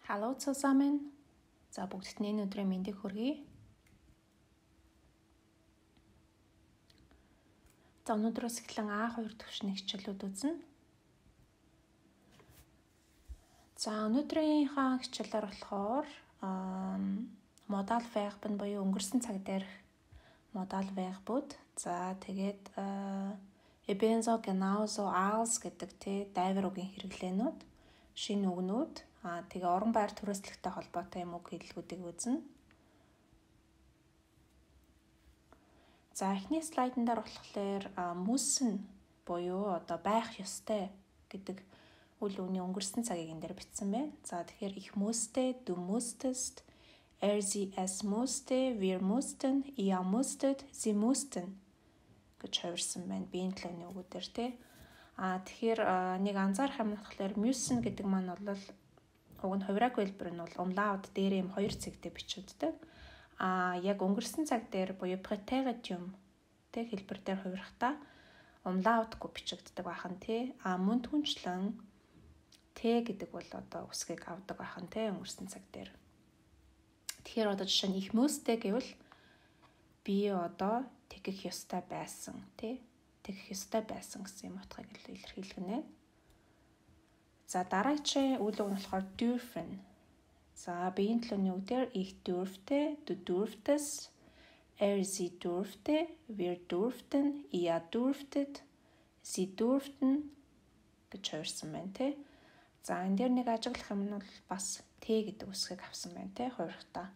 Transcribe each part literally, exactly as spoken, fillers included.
Hello zusammen. За бүгдд нь энэ өдрийн мэндийг хүргэе. За өнөөдрөөс эхлэн А хоёр төвшний хичээлүүд үзнэ. За өнөөдрийнхаа хичээлээр болохоор модаль верб нь буюу өнгөрсөн цаг дээрх модаль вербүүд. За тэгээд ebenso genauso als гэдэг тий дайвар үгийн хэрэглээнүүд, шинэ үгнүүд, аа тэгээ орон байр төрөслөгтэй холбоотой юм үг хэллэгүүдийг үзнэ. За эхний слайдн дээр болохоор müssen буюу одоо байх ёстой гэдэг үйл үгний өнгөрсөн цагийг энэ дээр бичсэн байна. За тэгэхээр ich musste, du musstest, er sie es musste, wir mussten, ihr musstet, sie mussten гэж хувирсан байна. Биеийн төлөвний үгүүдээр тий. Аа тэгэхээр нэг анзаарах юм болохоор müssen гэдэг маань бол уг нь хувираг хэлбэр нь бол umlaut дээр юм хоёр цэгтэй бичигддэг. Аа яг өнгөрсөн цаг дээр буюу preteritum тэг хэлбэр дээр хувирахтаа umlautгүй бичигддэг байхан тий. Аа мөн түнчлэн Т гэдэг бол одоо үсгийг авдаг байхан тий өнгөрсөн цаг дээр. Тэгэхээр одоо жишээ нь ich musste гэвэл би одоо тэгэх ёстой байсан тий. Тэгэх ёстой байсан гэсэн юм утгыг илэрхийлгэнэ. За дараагийн үйл үг нь болохоор dürfen. За биеийн төлөвний үгээр ich durfte, du durftest, er sie durfte, wir durften, ihr durftet, sie durften гэж хувирсан байна тий. За энэ дээр нэг ажиглах юм нь бол бас Т гэдэг үсгийг авсан байна тий хувирахтаа.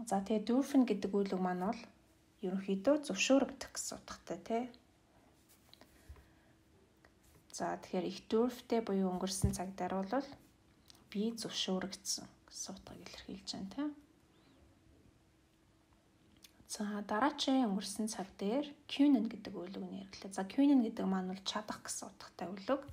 За тэгээ dürfen гэдэг үйл үг маань бол ерөнхийдөө зөвшөөрөгдөх гэсэн утгатай тий. За тэгэхээр ich durfte буюу өнгөрсөн цаг дээр бол би зөвшөөрөгдсөн гэсэн утгыг илэрхийлж байна тий. За дараагийн өнгөрсөн цаг дээр können гэдэг үйл үгний хэрэглээ. За können гэдэг маань бол чадах гэсэн утгатай үйл үг.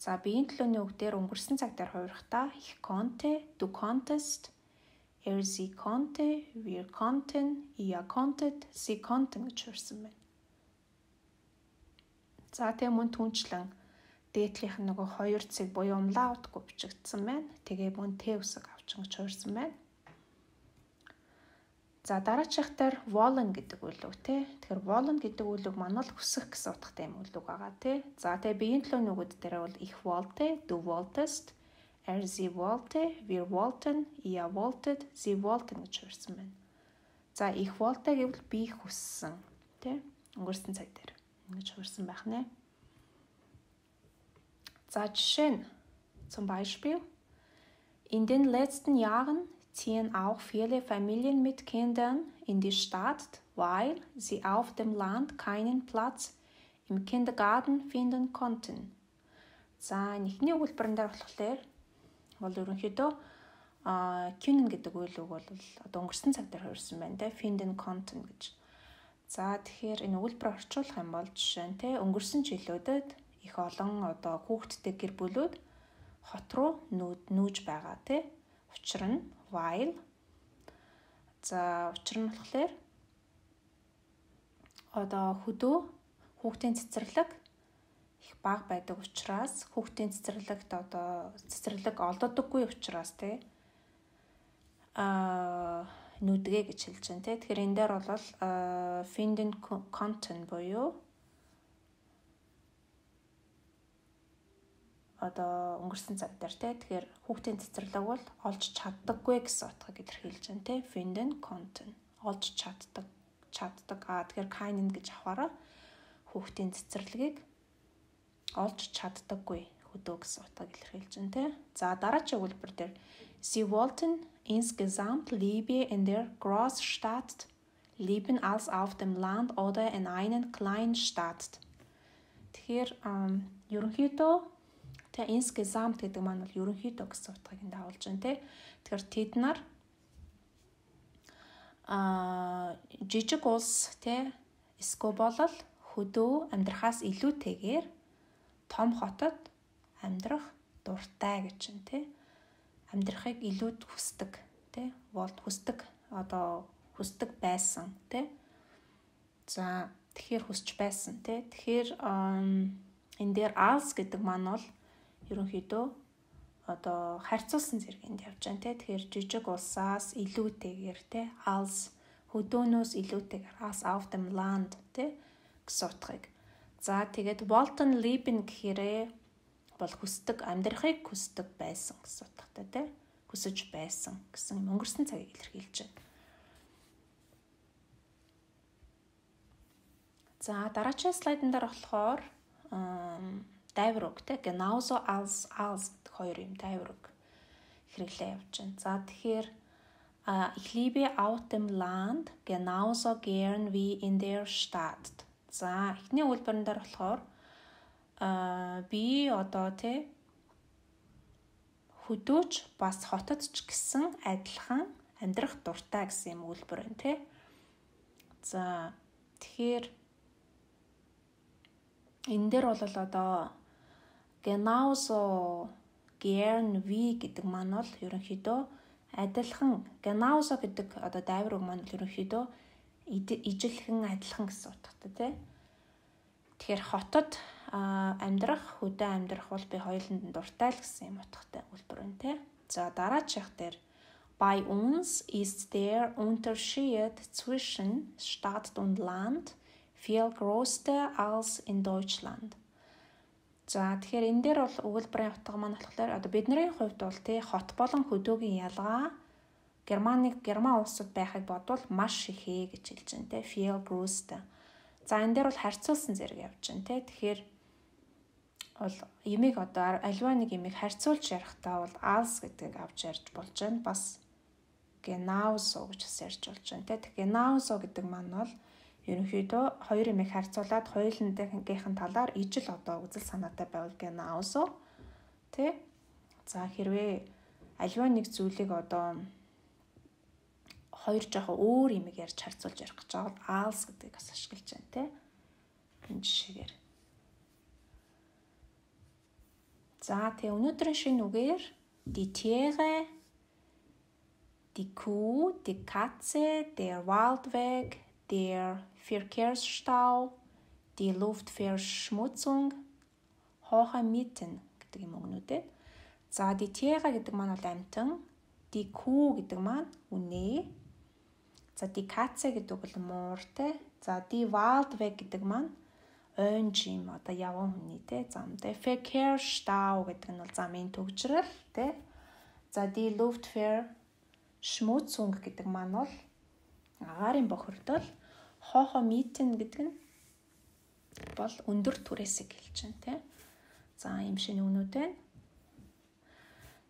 За биеийн төлөвний үг дээр өнгөрсөн цаг дээр хувирахтаа ich konnte, du konntest, er sie konnte, wir konnten, ihr konntet, sie konnten гэж хувирсан байна. За тэгээ мөн түнчлэн дээдлийнх нь нөгөө хоёр цэг буюу umlautгүй бичигдсэн байна. Тэгээ мөн Т үсэг авчин гэж хувирсан байна. За дараачих дээр wollen гэдэг үйл үг тий. Тэгэхээр wollen гэдэг үйл үг маань л хүсэх гэсэн утгатай юм үйл үг байгаа тий. За тэгээ биеийн төлөвний үгүүд дээр бол ich wollte, du wolltest, er sie wollte, wir wollten, ihr wolltet, sie wollten гэж хувирсан байна. За ich wollte гэвэл би хүссэн тий. Өнгөрсөн цаг дээр ингэж хувирсан байх нэ. За жишээ нь zum Beispiel in den letzten Jahren ziehen auch viele Familien mit Kindern in die Stadt, weil sie auf dem Land keinen Platz im Kindergarten finden konnten. За нэгний өгүүлбэрэн дээр болохоор бол ерөнхийдөө а können гэдэг үйл үг бол одоо өнгөрсөн цаг дээр хувирсан байна те finden konnten гэж. За тэгэхээр энэ өгүүлбэр орчуулах юм бол жишээ нь те өнгөрсөн жилүүдэд их олон одоо хүүхдтэй гэр бүлүүд хот руу нүүж байгаа те. Учир нь while. За учир нь болохоор одоо хөдөө хүүхдийн цэцэрлэг их бага байдаг учраас хүүхдийн цэцэрлэгт одоо цэцэрлэг олддоггүй учраас тий а нүдгээ гэж хэлж байна тий. Тэгэхээр энэ дээр бол finden konnten буюу одоо өнгөрсөн цаг дээр тий. Тэгэхээр хүүхдийн цэцэрлэг бол олж чаддаггүй гэсэн утгыг илэрхийлж байна тий. Finden konnten олж чаддаг чаддаг. Аа тэгэхээр keinen гэж аваараа хүүхдийн цэцэрлэгийг олж чаддаггүй хөдөө гэсэн утгыг илэрхийлж байна тий. За дараагийн өгүүлбэр дээр sie wollten insgesamt lieber in der Großstadt leben als auf dem Land oder in einer kleinen Stadt. Тэгэхээр ерөнхийдөө тэ insgesamt гэдэг маань бол ерөнхийдөө гэсэн утгыг энд харуулж байна тий. Тэгэхээр тэд нар а жижиг улс тий эсвэл болол хөдөө амьдрахаас илүүтэйгээр том хотод амьдрах дуртай гэж байна тий. Амьдрахыг илүүд хүсдэг тий. Бол хүсдэг одоо хүсдэг байсан тий. За тэгэхээр хүсч байсан тий. Тэгэхээр энэ дээр als гэдэг маань бол ерөнхийдөө одоо харьцуулсан зэрэгэнд явж байна те. Тэгэхээр жижиг улсаас илүүтэйгээр те als хөдөөнөөс илүүтэйгээр als auf dem Land те гэсэн утгыг. За тэгээд wollten leben гэхээрээ бол хүсдэг, амьдрахыг хүсдэг байсан гэсэн утгатай те. Хүсэж байсан гэсэн өнгөрсөн цагийг илэрхийлж байна. За дараагийн слайдн дээр болохоор дайврог те genauso als als хоёр юм дайврог хэрэглээ явж байна. За тэгэхээр ich liebe auf dem Land genauso gern wie in der Stadt. За эхний үйлбэрэн дээр болохоор а би одоо те хөдөөч бас хотод ч гэсэн адилхан амьдрах дуртай гэсэн юм үйлбэр байна те. За тэгэхээр энэ дээр бол одоо genauso gern wie гэдэг маань бол ерөнхийдөө адилхан genauso гэдэг одоо дайвраг маань ерөнхийдөө ижилхэн адилхан гэсэн утгатай тий. Тэгэхээр хотод амьдрах, хөдөө амьдрах бол би хоёуланд нь дуртай л гэсэн юм утгатай үйлбэр байна тий. За дараачих дээр bei uns ist der Unterschied zwischen Stadt und Land viel größer als in Deutschland. За тэгэхээр энэ дээр бол өгүүлбэрийн утга маань болохоор одоо бидний хувьд бол тий хот болон хөдөөгийн ялгаа Германы Герман улсад байхыг бодвол маш ихээ гэж хэлж байна тий viel größer. За энэ дээр бол харьцуулсан зэрэг явж байна тий. Тэгэхээр бол ямиг одоо альва нэг ямиг харьцуулж ярихдаа бол als гэдгийг авч ярьж болж байна. Бас genauso гэж ярьж болж байна тий. Genauso гэдэг маань бол ерөнхийдөө хоёр юмыг харьцуулаад хоёулынхын талаар ижил одоо үзэл санаатай байвал genauso тий. За хэрвээ альва нэг зүйлийг одоо хоёр жоохон өөр юмыг ярьж харьцуулж ярих гэж байгаа бол als гэдгийг бас ашиглаж байна тий. Энэ жишээгээр. За тэгээ өнөөдрийн шинэ үгээр die Tiere, die Kuh, die Katze, der Waldweg, der Verkehrsstau, die Luftverschmutzung, hohe Mieten гэдэг юм өгнүүдэд. За die Tiere гэдэг маань бол амьтан, die Kuh гэдэг маань үнэ. За die Katze гэдэг бол мууртай. За die Waldweg гэдэг маань ойн жим одоо явган хүний те. За der Verkehrsstau гэдэг нь бол замын төгжрөл те. За die Luftverschmutzung гэдэг маань бол агаарын бохирдол. Hohe Mieten гэдэг нь бол өндөр түрээсийг хэлж байна те. За ийм шинэ үгнүүд байна.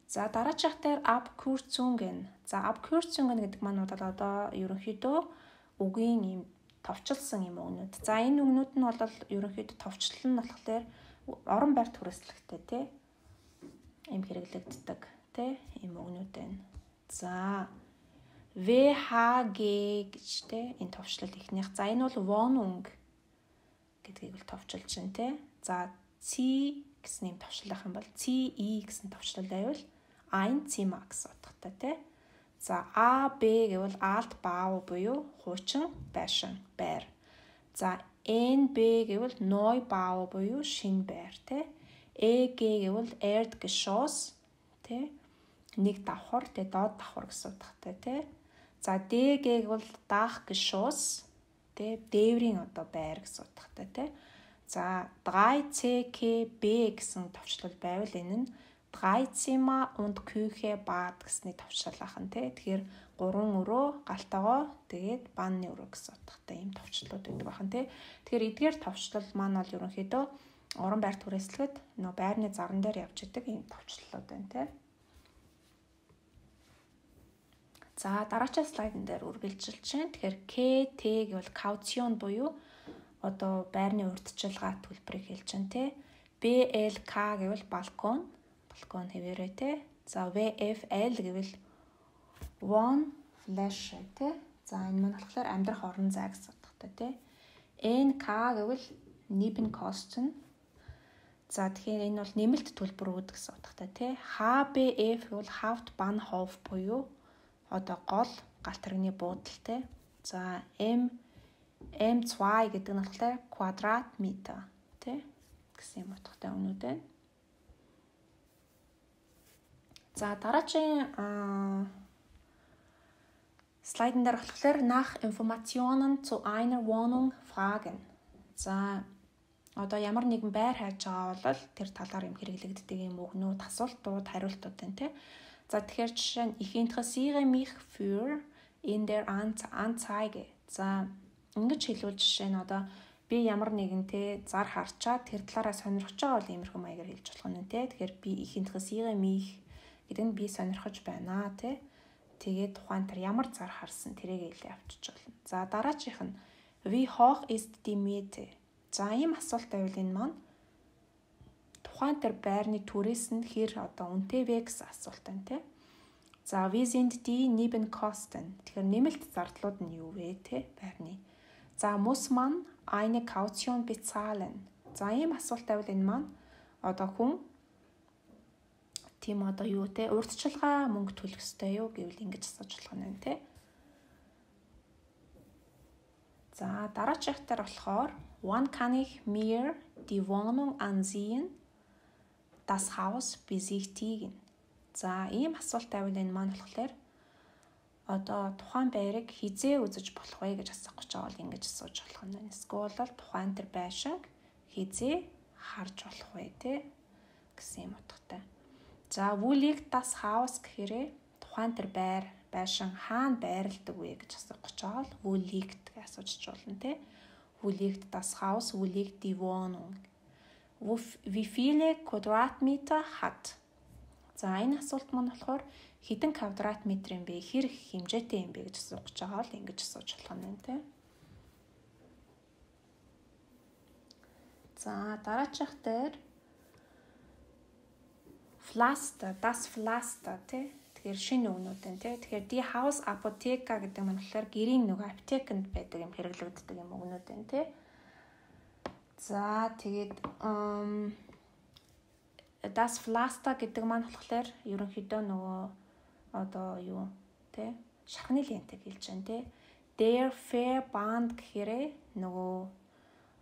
За дараачих дээр Abkürzungen. За Abkürzungen гэдэг маань бол одоо ерөнхийдөө үгийн ийм товчлсон юм үгнүүд. За энэ үгнүүд нь бол ерөнхийдөө товчлол нь болохоор орон байр түрээслэгтэй те. Ийм хэрэглэгддэг те. Ийм үгнүүд байна. За вэ ха гэ гэж те энэ товчлол ихнийх. За энэ бол Wohnung гэдгийг л товчилж байна те. За ці гэсэн юм товчлох юм бол ці и гэсэн товчлол байвал ein Zimmer гэсэн утгатай те. За а бэ гэвэл alt bau буюу хуучин байшин байр. За эн бэ гэвэл neu bau буюу шинэ байр те. э гэ гэвэл Erdgeschoss те. Нэг давхар те доод давхар гэсэн утгатай те. За Д Г бол Dachgeschoss тэ дээврийн одоо байр гэсэн утгатай те. За drei C K B гэсэн товчлол байвал энэ нь drei Zimmer und Küche Bad гэсний товчлол ахын те. Тэгэхээр гурван өрөө, галтагоо, тэгээд банны өрөө гэсэн утгатай ийм товчлууд байдаг ахын те. Тэгэхээр эдгээр товчлол маань бол ерөнхийдөө орон байр түрээслэхэд нөө байрны заран дээр явж идэг ийм товчлолууд байна те. За дараагийн слайдн дээр үргэлжилж байна. Тэгэхээр К Т гэвэл кауцион буюу одоо байрны урьдчилгаа төлбөрийг хэлж байна те. Б Л К гэвэл балкон, балкон хэвээрээ те. За В Ф Л гэвэл one flash те. За энэ маань болохоор амьдрах орон зай гэсэн утгатай те. Н К гэвэл Nebenkosten. За тэгэхээр энэ бол нэмэлт төлбөрүүд гэсэн утгатай те. Х Б Ф гэвэл Hauptbahnhof буюу одоо гол галт тэрэгний буудал те. За М М два гэдэг нь болохоор квадрат метр те гэсэн юм утгатай өгнүүд байна. За дараагийн слайдн дээр болохоор nach Informationen zu einer Wohnung fragen. За одоо ямар нэгэн байр хайж байгаа бол тэр талаар юм хэрэглэгддэг юм өгнүүд, асуултууд, хариултууд байна тий. За тэгэхээр жишээ нь ich interessiere mich für in der Anzeige. За ингэж хэлвэл жишээ нь одоо би ямар нэгэн тий зар харчаад тэр талаараа сонирхож байгаа бол иймэрхүү маягаар хэлж болох нь тий. Тэгэхээр би ich interessiere mich гэдэг нь би сонирхож байна тий. Тэгээд тухайн тэр ямар зар харсан тэрийг хэлээ авчиж болно. За дараачих нь wie hoch ist die Miete? За ийм асуулт байвал энэ маань тухайн тэр байрны түрээс нь хэр одоо үнэтэй вэ гэсэн асуулт байна тий. За wie sind die Nebenkosten? Тэгэхээр нэмэлт зардлууд нь юу вэ тий байрны. За muss man eine Kaution bezahlen? За ийм асуулт байвал энэ маань одоо хүн тийм одоо юу те урьдчилгаа мөнгө төлөх ёстой юу гэвэл ингэж асууж болох нь те. За дараачихтар болохоор wann kann ich mir die Wohnung ansehen? Das Haus besichtigen. За ийм асуулт байвал энэ маань болохоор одоо тухайн байрыг хизээ үзэж болох вэ гэж асуух гэж байгаа бол ингэж асууж болох нь. Эсвэл бол тухайн тэр байшинг хизээ харж болох вэ те гэсэн юм утгатай. За wo liegt das Haus гэхээр тухайн тэр байр байшин хаана байрладаг вэ гэж асуух гэж байгаа бол wo liegt гэж асууж болно те. Wo liegt das Haus? Wo liegt die Wohnung? Wo, wie viele Quadratmeter hat? За энэ асуулт маань болохоор хэдэн квадратметр юм бэ? Хэр хэмжээтэй юм бэ гэж асуух гэж байгаа бол ингэж асууж болох юм те. За дараачих дээр Pflaster, das Pflaster тий. Тэгэхээр шинэ үгнүүд энэ тий. Тэгэхээр die Haus Apotheke гэдэг нь болохоор гэрийн нөгөө аптекэнд байдаг юм хэрэглэгддэг юм үгнүүд энэ тий. За тэгээд das Pflaster гэдэг маань болохоор ерөнхийдөө нөгөө одоо юу тий шархны лентийг хэлж байна тий. Der Verband гэхээр нөгөө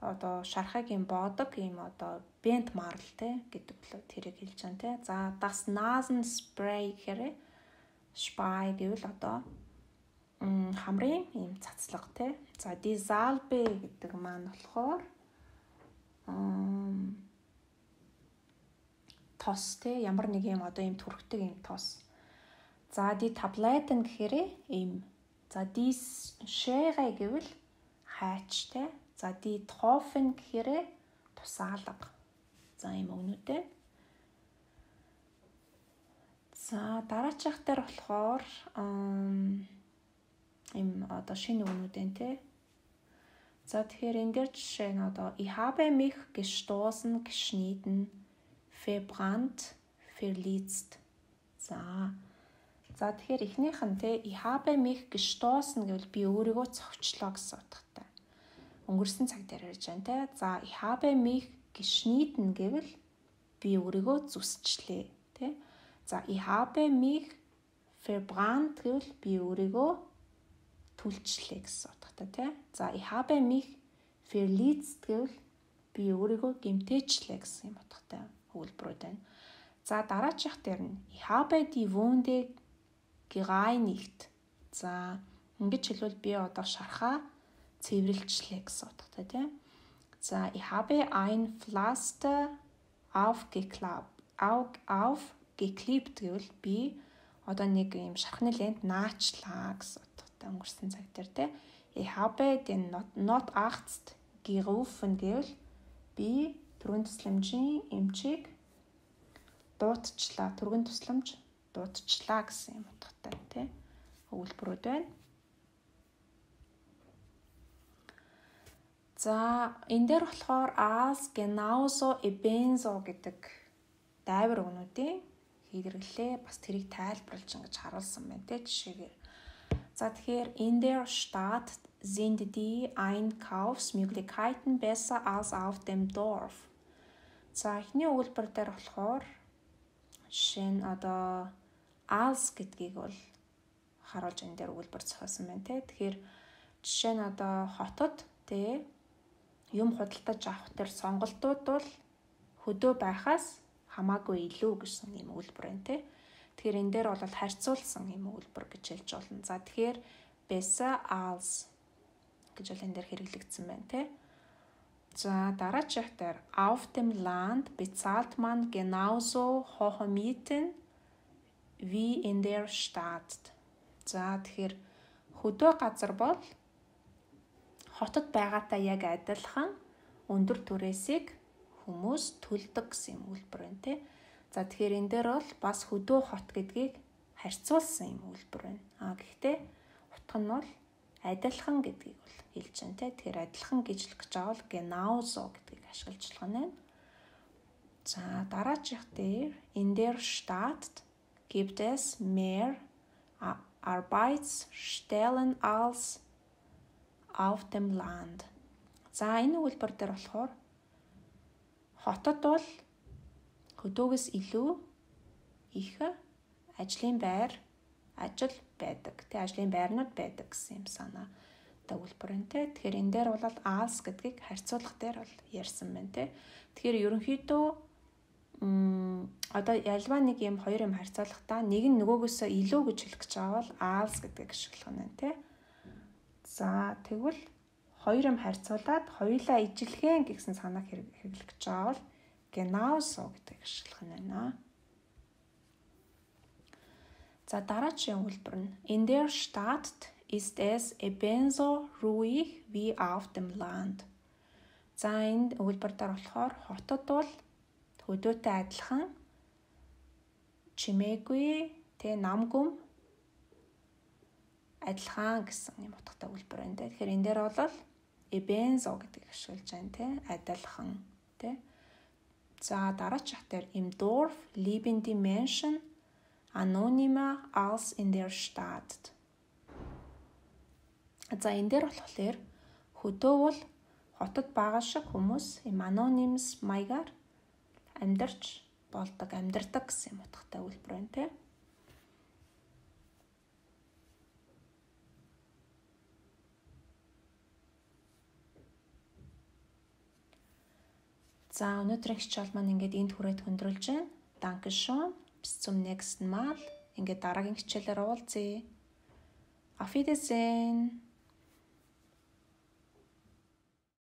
одоо шархагийн боодог юм одоо бент марл те гэдэг л тэрийг хэлж байгаа те. За das Nasenspray гэхээр spray гэвэл одоо хамрын юм цацлага те. За die Salbe гэдэг маань болохоор тос те ямар нэг юм одоо юм түрхдэг юм тос. За die Tabletten гэхээр юм. За die Schere гэвэл хайч те. За die Tropfen гэхээр тусаалга. За юм өгнүүдээ. За дараачих дээр болохоор юм одоо шинэ өгнүүд энэ те. За тэгэхээр энэ дээр жишээ нь одоо ich habe mich gestoßen, geschnitten, verbrannt, verletzt. За. За тэгэхээр эхнийх нь те ich habe mich gestoßen гэвэл би өөрийгөө цовчлоо гэсэн утгатай. Өнгөрсөн цаг дээр ярьж байна те. За ich habe mich geschnitten гэвэл би өөрийгөө зүсчлээ те. За ich habe mich verbrannt гэвэл би өөрийгөө түлчлээ гэсэн утгатай те. За ich habe mich verletzt гэвэл би өөрийгөө гэмтээчлээ гэсэн юм утгатай өгүүлбэрүүд байна. За дараачих дээр нь ich habe die Wunde gereinigt. За ингэж хэлвэл би одоо шархаа цэвэрлжлээ гэсэн утгатай тийм. За ich habe ein Pflaster aufgeklappt. Aufgeklebt гэвэл би одоо нэг юм шархны лент наачлаа гэсэн утгатай өнгөрсөн цаг дээр тийм. Ich habe den Notarzt gerufen гэвэл би түргэн тусламжийн эмчийг дуудчлаа. Түргэн тусламж дуудчлаа гэсэн юм утгатай тийм. Өгүүлбэрүүд байна. За энэ дээр болохоор as genauso ebenso гэдэг дайвар өгнүүдийн хэрэглээ бас тэрийг тайлбарлаж ингэж харуулсан байна те жишээгээр. За тэгэхээр in der Stadt sind die Einkaufsmöglichkeiten besser als auf dem Dorf. За эхний өгүүлбэр дээр болохоор жишээ нь одоо as гэдгийг бол харуулж энэ дээр өгүүлбэр зохиосон байна те. Тэгэхээр жишээ нь одоо хотод те юм худалдаж авах төр сонголтууд бол хөдөө байхаас хамаагүй илүү гэсэн юм өгүүлбэр байна те. Тэгэхээр энэ дээр бол харьцуулсан юм өгүүлбэр гэж хэлж болно. За тэгэхээр besser als гэж бол энэ дээр хэрэглэгдсэн байна тий. За дараачих дээр auf dem Land bezahlt man genauso hohe Mieten wie in der Stadt. За тэгэхээр хөдөө газар бол хотод байгаатай яг адилхан өндөр түрээсийг хүмүүс төлдөг гэсэн юм үйлбэр байна тий. За тэгэхээр энэ дээр бол бас хөдөө хот гэдгийг харьцуулсан юм үйлбэр байна. А гэхдээ утга нь бол адилхан гэдгийг бол хэлж байна тий. Тэгэхээр адилхан гэж хэлэх гэж байгаа бол genauso гэдгийг ашиглаж байна. За дараачих дээр in der Stadt gibt es mehr Arbeitsstellen als auf dem Land. За энэ үйлбэр дээр болохоор хотод бол хөдөөгөөс илүү их ажлын байр ажил байдаг. Тэ ажлын байрнууд байдаг гэсэн юм санаа төгөлбөр энэ тэ. Тэгэхээр энэ дээр бол als гэдгийг харьцуулах дээр бол ярьсан байна тэ. Тэгэхээр ерөнхийдөө м одоо ялваа нэг юм хоёр юм харьцуулахдаа нэг нь нөгөөгөөсөө илүү гэж хэлэх гэж байгаа бол als гэдгийг ашиглах нь тэ. За тэгвэл хоёр юм харьцуулаад хоёулаа ижилхэн гэсэн санааг хэрэглэх гэж байгаа бол genauso гэдгийг ашиглах нь байна. За дараагийн үйлбэр нь in der Stadt ist es ebenso ruhig wie auf dem Land. За энэ үйлбэр дээр болохоор хотод бол хөдөөтэй адилхан чимээгүй тэ намгүм адилхан гэсэн юм утгатай үйлбэр байна тэ. Тэгэхээр энэ дээр бол ebenso гэдгийг ашиглаж байна тэ. Адилхан тэ. За дараачих дээр im Dorf leben die Menschen anonymer als in der Stadt. За энэ дээр болохоор хөдөө бол хотод байгаа шиг хүмүүс им anonymous маягаар амьдарч болдог, амьдардаг гэсэн юм утгатай үйлбэр байна те. За өнөөдрийн хичээл маань ингээд энд хүрээд хөндрөлж байна. Dankeschön. Bis zum nächsten Mal. Ингээд дараагийн хичээлээр уулзъя. Auf Wiedersehen.